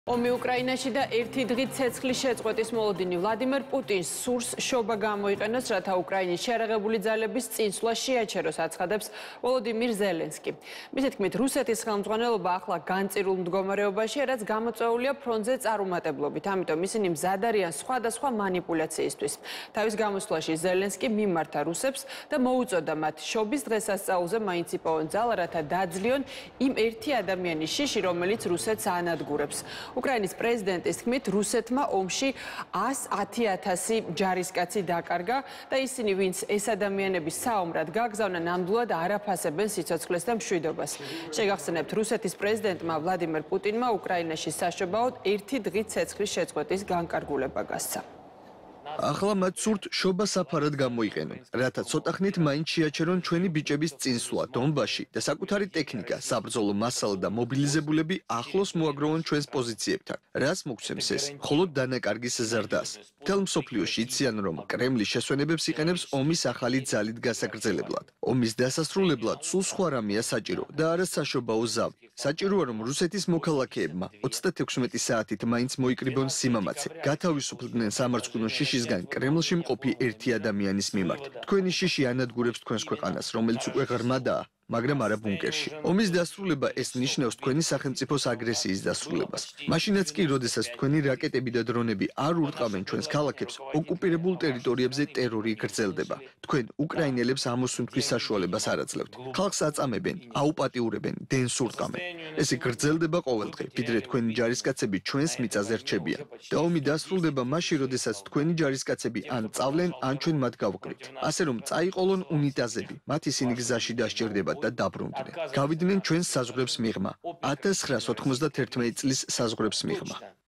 ომი უკრაინაში და ერთი დღით ცეცხლის შეწყვეტის მოლოდინი ვლადიმერ პუტინს სურს შობა გამოიყენოს, რათა უკრაინის შეერაღებული ძალების წინსვლა შეაჩეროს, აცხადებს ვოლოდიმირ ზელენსკი. მისი თქმით, რუსეთის ხელმძღვანელობა ახლა განწირულ მდგომარეობაშია, რაც გამოწვეულია ფრონტზე წარუმატებლობით, ამიტომ ისინი მზად არიან სხვადასხვა манипуляციისთვის. თავის გამოსვლაში ზელენსკი მიმართა რუსებს და მოუწოდა მათ შობის დღესასწაულზე მაინც იპოვონ ძალა, რათა დაძლიონ იმ ერთი ადამიანის შიში, რომელიც რუსეთს ანადგურებს. უკრაინის პრეზიდენტის თქმით, რუსეთმა ომში 110,000 ჯარისკაცი დაკარგა და ისინი, ვინც ეს ადამიანები საომრად გაგზავნა, ნამდვილად არ აფასებენ სიცოცხლეს და მშვიდობას. შეგახსენებთ, რუსეთის პრეზიდენტმა ვლადიმერ პუტინმა უკრაინაში საშობაოდ ერთი დღით ცეცხლის შეწყვეტის განკარგულება გასცა. ახლა მათ სურთ შობა საფარად გამოიყენონ, რათა ცოტა ხნით მაინც შეაჩერონ ჩვენი ბიჭების წინსვლა დონბასში და საკუთარი ტექნიკა, საბრძოლო მასალა და მობილიზებულები ახლოს მოაგროვონ ჩვენს პოზიციებთან. რას მოგცემს ეს? მხოლოდ დანაკარგის ზრდას. მთელ მსოფლიოში იციან, რომ კრემლი შესვენებებს იყენებს ომის ახალი ძალით გასაგრძელებლად. ომის დასასრულებლად სულ სხვა რამეა საჭირო და არა საშობაო ზავი. საჭიროა, რომ რუსეთის მოქალაქეებმა 36 საათით მაინც მოიკრიბონ სიმამაცე, გათავისუფლდნენ სამარცხვინო შიშისგან კრემლში მყოფი ერთი ადამიანის მიმართ. თქვენი შიში ანადგურებს თქვენს ქვეყანას, რომელიც უკვე ღრმადაა, მაგრამ არა ბუნკერში. ომის დასრულება ეს ნიშნავს თქვენი სახელმწიფოს აგრესიის დასრულებას. მაშინაც კი, როდესაც თქვენი რაკეტები და დრონები არ ურტყამენ ჩვენს ქალაქებს, ოკუპირებულ ტერიტორიებზე ტერორი გრძელდება. თქვენ უკრაინელებს ამოსუნთქვის საშუალებას არ აძლევთ. ხალხს აწამებენ, აუპატიურებენ, დენს ურტყამენ. ესე გრძელდება ყოველდღე, ვიდრე თქვენი ჯარისკაცები ჩვენს მიწაზე რჩებიან. და ომი დასრულდება მაშინ, როდესაც თქვენი ჯარისკაცები ან წავლენ, ან ჩვენ მათ გავყრით. ასე რომ წაიყოლონ უნიტაზები, მათ ისინი გზაში დასჭირდება და დაბრუნდნენ. გავიდნენ ჩვენს საზღვრებს მიღმა, 1991 წლის საზღვრებს მიღმა.